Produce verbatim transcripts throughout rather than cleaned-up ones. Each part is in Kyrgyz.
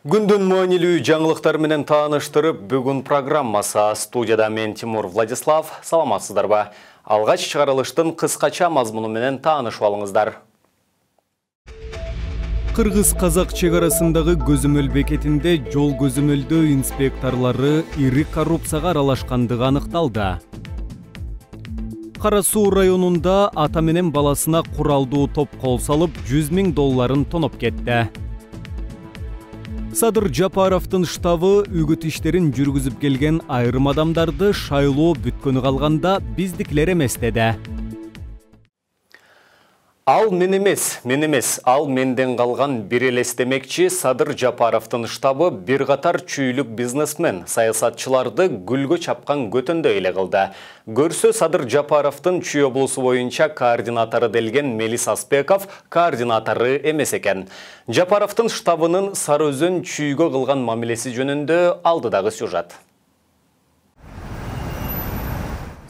Күндүн маанилүү жаңылыктар менен тааныштырып, бүгүн программасы студияда мен Тимур Владислав. Саламатсыздарбы? Алгач чыгарылыштын кыскача мазмуну менен таанышып алыңыздар. Кыргыз-казак чек арасындагы көзөмөл бекетинде жол көзөмөлдөө инспекторлору ири коррупцияга аралашкандыгы аныкталды. Кара Суу районунда ата менен баласына куралдуу топ кол салып, жүз миң долларын тоноп кетти. Садыр Жапаровдун штабы үгүт иштерин жүргүзүп келген айрым адамдарды шайлоо бүткөнү калганда биздикилер эмес деди. Ал мен эмес, мен эмес, ал менден калган бир элес демекчи Садыр Жапаровдун штабы бир катар чүйлүк бизнесмен, саясатчыларды гүлгө чапкан көтөндө эле кылды. Көрсө Садыр Жапаровдун Чүй облусу боюнча координатору делген Мелис Аспеков координатору эмес экен. Жапаровдун штабынын Сары Өзөн Чүйгө кылган мамилеси жөнүндө алдыдагы сюжет.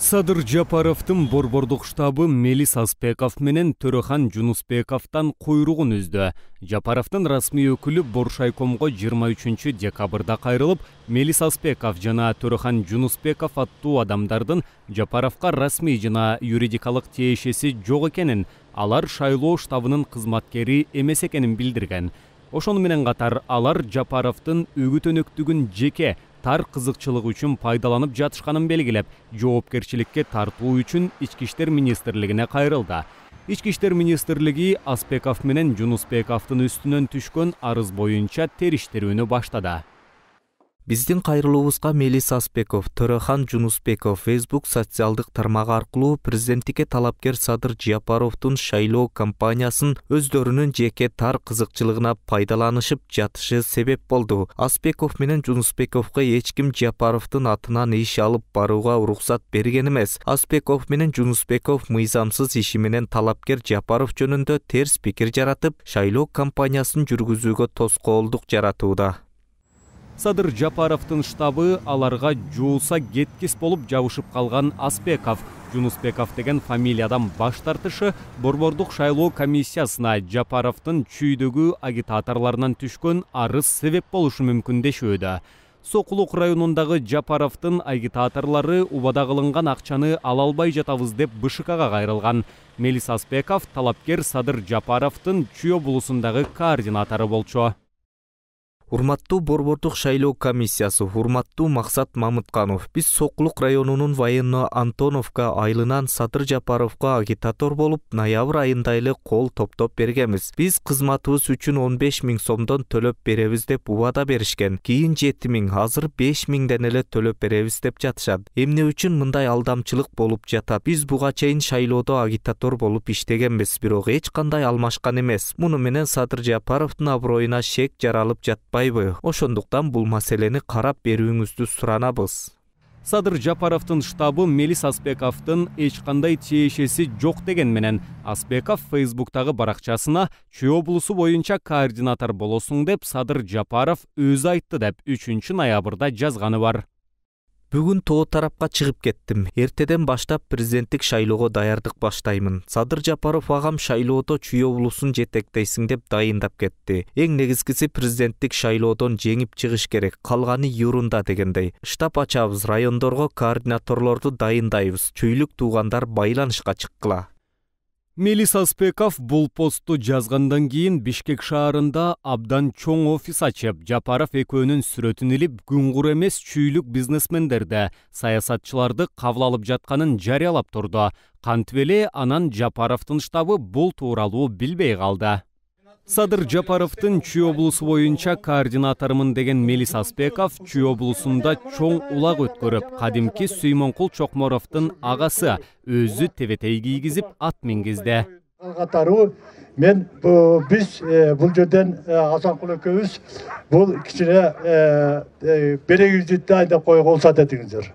Садыр Жапаровдун борбордук штабы Мелис Аспеков менен Төрөхан Жунусбековдон куйругун үздү. Жапаровдун расмий өкүлү Боршайкомго жыйырма үчүнчү декабрда кайрылып, Мелис Аспеков жана Төрөхан Жунусбеков аттуу адамдардын Жапаровго расмий жана юридикалык тиешеси жок экенин, алар шайлоо штабынын кызматкери эмес экенин билдирген. Ошону менен катар алар Жапаровдун үгүт өнөктүгүн жеке тар кызыкчылык үчүн пайдаланып жатышканын белгилеп, жоопкерчиликке тартуу үчүн Ички иштер министрлигине кайрылды. Ички иштер министрлиги Аспеков менен Жунусбековдун үстүнөн түшкөн арыз боюнча териштирүүнү баштады. Биздин кайрылуубузга Мелис Аспеков, Төрөхан Жунусбеков Facebook социалдык тармагы аркылуу президенттикке талапкер Садыр Жапаровдун шайлоо кампаниясын өздөрүнүн жеке тар кызыкчылыгына пайдаланышып жатышы себеп болду. Аспеков менен Жунусбековго эч ким Жапаровдун атынан иш алып барууга уруксат берген эмес. Аспеков менен Жунусбеков мыйзамсыз иши менен талапкер Жапаров жөнүндө терс пикир жаратып, шайлоо кампаниясын жүргүзүүгө тоскоолдук жаратууда. Садыр Жапаровдун штабы аларга жууса кеткис болуп жабышып калган Аспеков, Жунусбеков деген фамилиядан баш тартышы борбордук шайлоо комиссиясына Жапаровдун Чүйдөгү агитаторлорунан түшкөн арыз себеп болушу мүмкүн дешүүдө. Сокулук районундагы Жапаровдун агитаторлору убада кылынган акчаны ала албай жатабыз деп БШКга кайрылган. Мелис Аспеков талапкер Садыр Жапаровдун Чүй облусундагы координатору болчу. Урматтуу борбордук шайлоо комиссиясы, урматтуу Максат Мамытканов, биз Сокулук районунун военно Антоновка айылынан Садыр Жапаровго агитатор болуп, ноябрь айында эле кол топтоп бергенбиз. Биз кызматыбыз үчүн он беш миң сомдон төлөп беребиз деп убада беришкен. Кийин жети миң, азыр беш миңден эле төлөп беребиз деп жатышат. Эмне үчүн мындай алдамчылык болуп жатат? Биз буга чейин шайлоодо агитатор болуп иштегенбиз, бирок эч кандай алмашкан эмес. Муну менен Садыр Жапаровдун аброюна шек жаралып жатпайбы? Ошондуктан бул маселени карап берүүңүздү суранабыз. Садыр Жапаровдун штабы Мелис Аспековдун эч кандай тиешеси жок деген менен Аспеков Facebook'тагы баракчасына Чүй облусу боюнча координатор болосуң деп Садыр Жапаров өзү айтты деп үчүнчү ноябрда жазганы бар. Бүгүн тоо тарапка чыгып кеттим. Эртеден баштап президенттик шайлоого даярдык баштаймын. Садыр Жапаров агам шайлоодо Чүй облусун жетектейсиң деп дайындап кетти. Эң негизгиси президенттик шайлоодон жеңип чыгыш керек, калганы юрунда дегендей. Штаб ачабыз, райондорго координаторлорду дайындайбыз. Чүйлүк туугандар байланышка чыккыла. Мелис Аспеков бул постту жазгандан кийин Бишкек шаарында абдан чоң офис ачып, Жапаров экөөнүн сүрөтүн илип, күнгур эмес чүйлүк бизнесмендерди, саясатчыларды кабыл алып жатканын жарыялап турду. Кантип эле анан Жапаровдун штабы бул тууралуу билбей калды. Садыр Жапаровдун Чүй облусу боюнча координаторумун деген Мелис Аспеков Чүй облусунда чоң улак өткөрүп, кадимки Сүймөнкул Чокморовдун агасы өзү тебетей кийгизип ат мингизди. Катары мен биз бул жерден Асанкул экөөбүз бул кичине берегибизди дайындап койгон уруксат этиңиздер.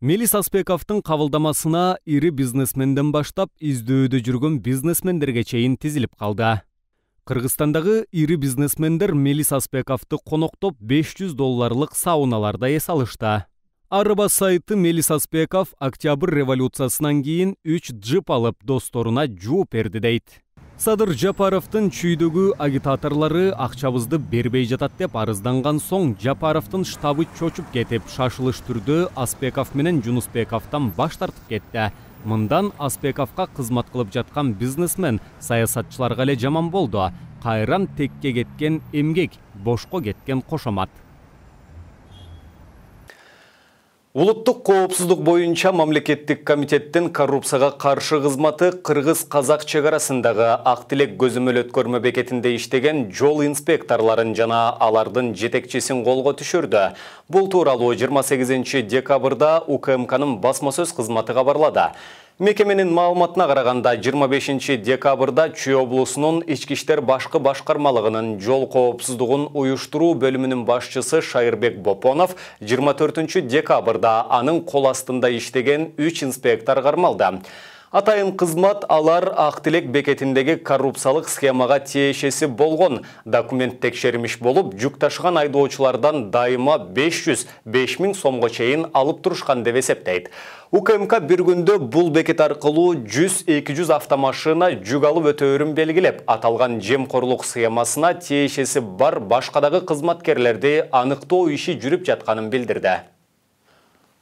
Мелис Аспековдун кабылдамасына ири бизнесменден баштап издөөдө жүргөн бизнесмендерге чейин тизилип калды. Кыргызстандагы ири бизнесмендер Мелис Аспековду коноктоп беш жүз долларлык сауналарда эс алышты. Арба сайты Мелис Аспеков октябрь революциясынан кийин үч джип алып досторуна жууп берди дейт. Садыр Жапаровдун чүйдөгү агитаторлору акчабызды бербей жатат деп арызданган соң Жапаровдун штабы чочуп кетип, шашылыш түрдө Аспеков менен Жунусбековдон баш тартып кетти. Мындан Аспековго кызмат кылып жаткан бизнесмен саясатчыларга эле жаман болду. Кайран текке кеткен эмгек, бошко кеткен кошомат. Улуттук коопсуздук боюнча мамлекеттик комитеттин коррупцияга каршы кызматы кыргыз-казак чек арасындагы Ак Тилек көзөмөл өткөрмө бекетинде иштеген жол инспекторлорун жана алардын жетекчисин колго түшүрдү. Бул тууралуу жыйырма сегизинчи декабрда У К М К'нын басма сөз кызматы кабарлады. Мекеменин маалыматына караганда жыйырма бешинчи декабрда Чүй облусунун ички иштер башкы башкармалыгынын жол коопсуздугун уюштуруу бөлүмүнүн башчысы Шайырбек Бопонов жыйырма төртүнчү декабрда анын кол астында иштеген үч инспектор кармалды. Атайын кызмат алар Ак Тилек бекетиндеги коррупциялык схемага тиешеси болгон документ текшермиш болуп, жүк ташыган айдоочулардан дайыма беш жүз беш миң сомго чейин алып турушкан деп эсептейт. У К М К бир күндө бул бекет аркылуу жүз эки жүз автомашина жүк алып өтөөрүн белгилеп, аталган жемкорлук схемасына тиешеси бар башкадагы кызматкерлерди аныктоо иши жүрүп жатканын билдирди.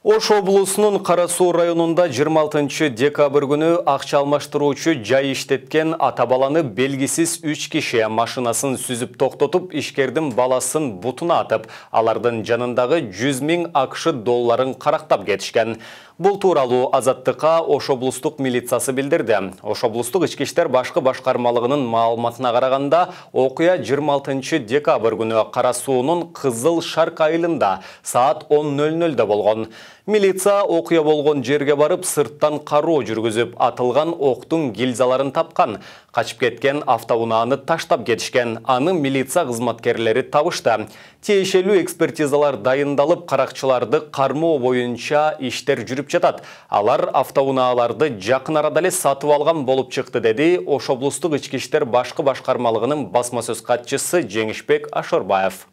Ош облусунун Кара Суу районунда жыйырма алтынчы декабрь күнү акча алмаштыруучу жай иштеткен ата баланы белгисиз үч киши машинасын сүзүп токтотуп, ишкердин баласын бутуна атып, алардын жанындагы жүз миң АКШ долларын карактап кетишкен. Бул тууралуу Азаттыкка Ош облустук милициясы билдирди. Ош облустук ички иштер башкы башкармалыгынын маалыматына караганда, окуя жыйырма алтынчы декабрь күнү Кара Суунун Кызыл Шарк айылында саат он ноль нольдо болгон. Милиция окуя болгон жерге барып, сырттан кароо жүргүзүп, атылган октун гильзаларын тапкан. Качып кеткен автоунааны таштап кетишкен. Аны милиция кызматкерлери табышты. Тиешелүү экспертизалар дайындалып, каракчыларды кармоо боюнча иштер жүрүп жатат. Алар автоунааларды жакын арада эле сатып алган болуп чыкты, деди Ош облустук ички иштер башкы башкармалыгынын басма сөз катчысы Жеңишбек Ашорбаев.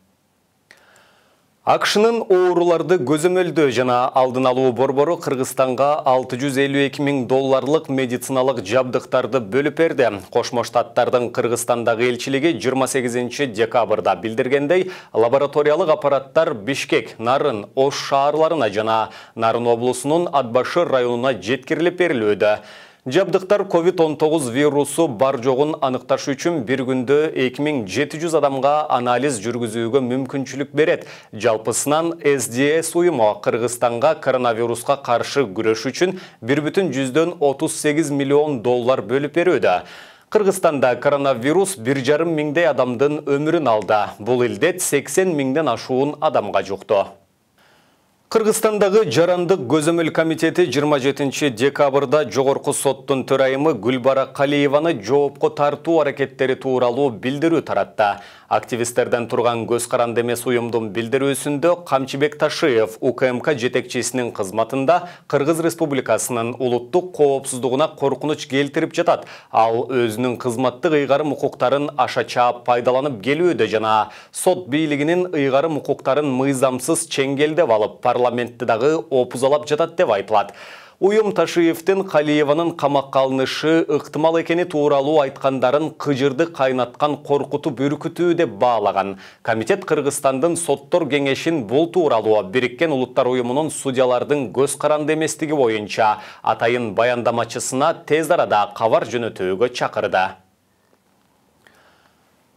АКШнын ооруларды көзөмөлдөө жана алдын алуу борбору Кыргызстанга алты жүз элүү эки миң долларлык медициналык жабдыктарды бөлүп берди. Кошмо Штаттардын Кыргызстандагы элчилиги жыйырма сегизинчи декабрда билдиргендей, лабораториялык аппараттар Бишкек, Нарын, Ош шаарларына жана Нарын облусунун Атбашыр районуна жеткирилип берилүүдө. Жабдыктар ковид он тогуз вирусу бар жогун аныкташ үчүн бир күндө эки миң жети жүз адамга анализ жүргүзүүгө мүмкүнчүлүк берет. Жалпысынан С Д С уюму Кыргызстанга коронавируска каршы күрөш үчүн бир бүтүн жүздөн отуз сегиз миллион доллар бөлүп берүүдө. Кыргызстанда коронавирус бир жарым миңдей адамдын өмүрүн алды. Бул илдет сексен миңден ашуун адамга жукту. Кыргызстандагы Жарандык көзөмөл комитети жыйырма жетинчи декабрда жогорку соттун төрайымы Гүлбара Калиеваны жоопко тартуу аракеттери тууралуу билдирүү таратты. Активисттерден турган көз каранды эмес уюмдун билдирүүсүндө Камчыбек Ташиев У К М К жетекчисинин кызматында Кыргыз Республикасынын улуттук коопсуздугуна коркунуч келтирип жатат. Ал өзүнүн кызматтык ыйгарым укуктарын аша чаап пайдаланып келүүдө жана сот бийлигинин ыйгарым укуктарын мыйзамсыз чеңгелдеп алып, парламентти дагы опузалап жатат деп айтылат. Уюм Ташиевдин Калиеванын камакка алынышы ыктымал экени тууралуу айткандарын кыжырды кайнаткан коркутуп үркүтүү деп баалаган. Комитет Кыргызстандын соттор кеңешин бул тууралуу Бириккен Улуттар уюмунун судьялардын көз каранды эместиги боюнча атайын баяндамачысына тез арада кабар жөнөтүүгө чакырды.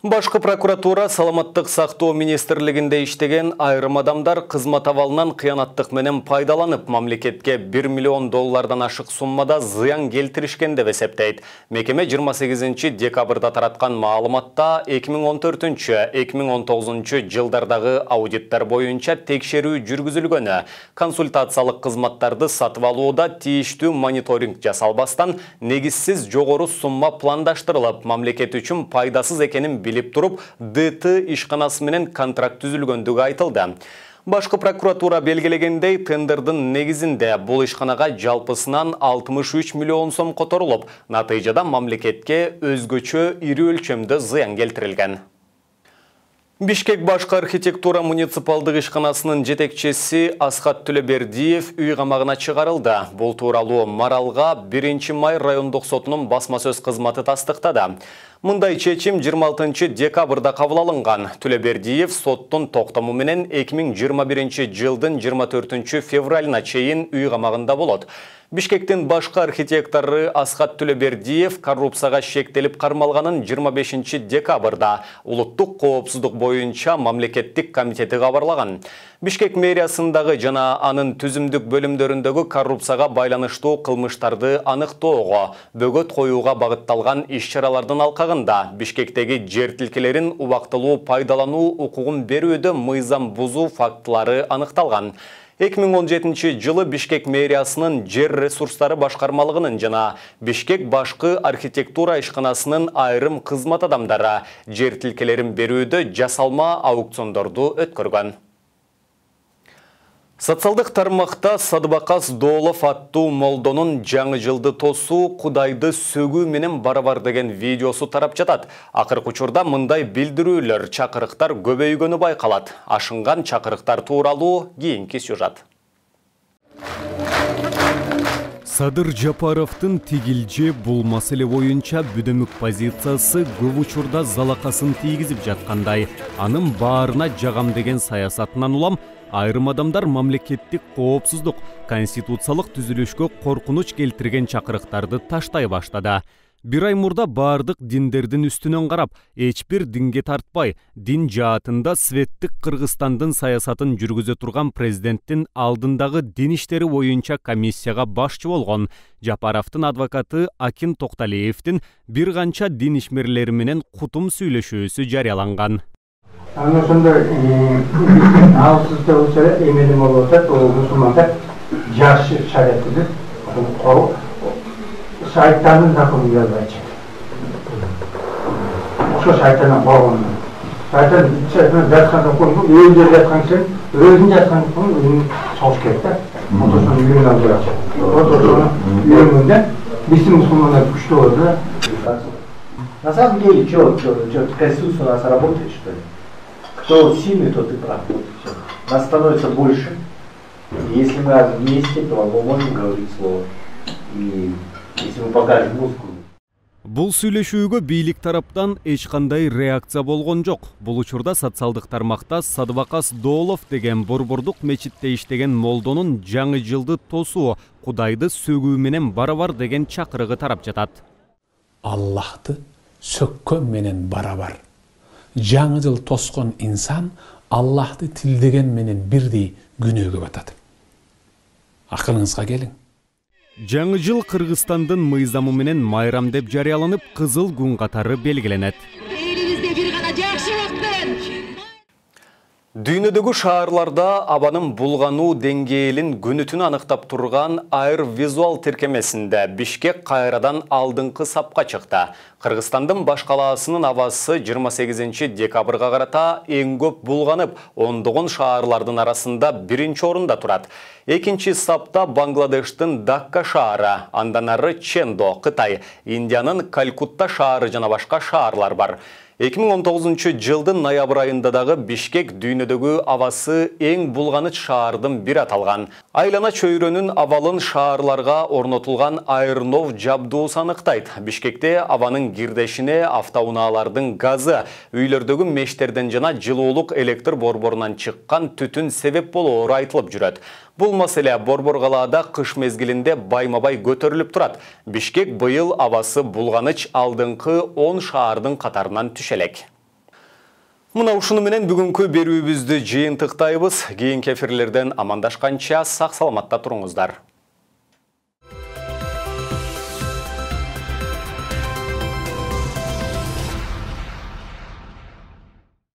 Башкы прокуратура Саламаттык сактоо министрлигинде иштеген айрым адамдар кызмат абалынан кыянаттык менен пайдаланып, мамлекетке бир миллион доллардан ашык суммада зыян келтиришкен деп эсептейт. Мекеме жыйырма сегизинчи декабрда тараткан маалыматта эки миң он төртүнчү — эки миң он тогузунчу жылдардагы аудиттер боюнча текшерүү жүргүзүлгөнү, консультациялык кызматтарды сатып алууда тийиштүү мониторинг жасалбастан негизсиз жогору сумма пландаштырылып, мамлекет үчүн пайдасыз экенин билип туруп, Д Т ишканасы менен контракт түзүлгөндүгү айтылды. Башкы прокуратура белгилегендей, тендердин негизинде бул ишканага жалпысынан алтымыш үч миллион сом которулуп, натыйжада мамлекетке өзгөчө ири өлчөмдө зыян келтирилген. Бишкек башкы архитектура муниципалдык ишканасынын жетекчиси Асхат Төлөбердиев үй камагына чыгарылды. Бул тууралуу Маралга биринчи май райондук сотунун басма сөз кызматы тастыктады. Мындай чечим жыйырма алтынчы декабрда кабыл алынган. Төлөбердиев соттун токтому менен эки миң жыйырма биринчи жылдын жыйырма төртүнчү февралына чейин үй камагында болот. Бишкектин башкы архитектору Асхат Төлөбердиев коррупцияга шектелип кармалганын жыйырма бешинчи декабрда улуттук коопсуздук боюнча мамлекеттик комитети кабарлаган. Бишкек мэриясындагы жана анын түзүмдүк бөлүмдөрүндөгү коррупцияга байланыштуу кылмыштарды аныктоого, бөгөт коюуга багытталган иш-чаралардын алкагында Бишкектеги жер тилкелерин убактылуу пайдалануу укугун берүүдө мыйзам бузуу фактылары аныкталган. эки миң он жетинчи жылы Бишкек мэриясынын жер ресурстары башкармалыгынын жана Бишкек башкы архитектура ишканасынын айрым кызмат адамдары жер тилкелерин берүүдө жасалма аукциондорду өткөргөн. Социалдык тармакта Садыбакас Доолов аттуу молдонун жаңы жылды тосуу Кудайды сөгүү менен барабар деген видеосу тарап жатат. Акыркы учурда мындай билдирүүлөр, чакырыктар көбөйгөнү байкалат. Ашынган чакырыктар тууралуу кийинки сюжет. Садыр Жапаровдун тигилже бул маселе боюнча бүдөмүк позициясы көп учурда залакасын тийгизип жаткандай, анын баарына жагам деген саясатынан улам айрым адамдар мамлекеттик коопсуздук, конституциялык түзүлүшкө коркунуч келтирген чакырыктарды таштай баштады. Бир ай мурда баардык диндердин үстүнөн карап, эч бир динге тартпай, дин жаатында светтик Кыргызстандын саясатын жүргүзө турган президенттин алдындагы дин иштери боюнча комиссияга башчы болгон Жапаровдун адвокаты Акин Токталиевдин бир канча дин ишмерлери менен кутум сүйлөшүүсү жарыяланган. Аны ошондой алсызда болсо эмне болуп атат, ол мусулмандар жашы шариятты кору шайтанын законун жазбайчы. Ошо шайтандан коргон. Шайтан шайтан жаткан законду өзү жаткан сен, өзүн жаткан законду өзүн согуш керек да. Ошону үйүнө алып барат. Ошону үйүнүндө биздин мусулмандар күчтүү болот да. На самом деле, что, Конституция у нас работает, что ли? Кто сильный, тот и прав. Нас становится больше. И если мы вместе, то мы можем говорить слово. И если мы покажем мускулы. Бул сүйлөшүүгө бийлик тараптан эч кандай реакция болгон жок. Бул учурда социалдык тармакта Садыбакас Доолов деген Борбордук мечитте иштеген молдонун жаңы жылды тосуу, Кудайды сөгүү менен барабар деген чакырыгы тарап жатат. Аллахты сөккөн менен барабар. Жаңы жыл тоскон инсан Аллахты тилдеген менен бирдей күнөөгө батат. Акылыңызга келиң. Жаңы жыл Кыргызстандын мыйзамы менен майрам деп жарыяланып, кызыл күн катары белгиленет. Элибизде бир гана жакшы убакыт. Дүйнөдөгү шаарларда абанын булгануу деңгээлин күнүтүн аныктап турган Air Visual тиркемесинде Бишкек кайрадан алдыңкы сапка чыкты. Кыргызстандын баш калаасынын абасы жыйырма сегизинчи декабрга карата эң көп булганып, ондогон шаарлардын арасында биринчи орунда турат. Экинчи сапта Бангладештин Дакка шаары, андан ары Чендо, Кытай, Индиянын Калькутта шаары жана башка шаарлар бар. эки миң он тогузунчу жылдын ноябрь айында дагы Бишкек дүйнөдөгү абасы эң булганыч шаардын бири аталган. Айлана чөйрөнүн абалын шаарларга орнотулган айрнов жабдуусу аныктайт. Бишкекте абанын кирдешине автоунаалардын газы, үйлөрдөгү мештерден жана жылуулук электр борборунан чыккан түтүн себеп болоору айтылып жүрөт. Бул маселе Борбор калаада кыш мезгилинде байма-бай көтөрүлүп турат. Бишкек быйыл абасы булганыч алдыңкы он шаардын катарынан түшелек. Мына ушуну менен бүгүнкү берүүбүздү жыйынтыктайбыз. Кийинки эфирлерден амандашканча сак саламатта туруңуздар.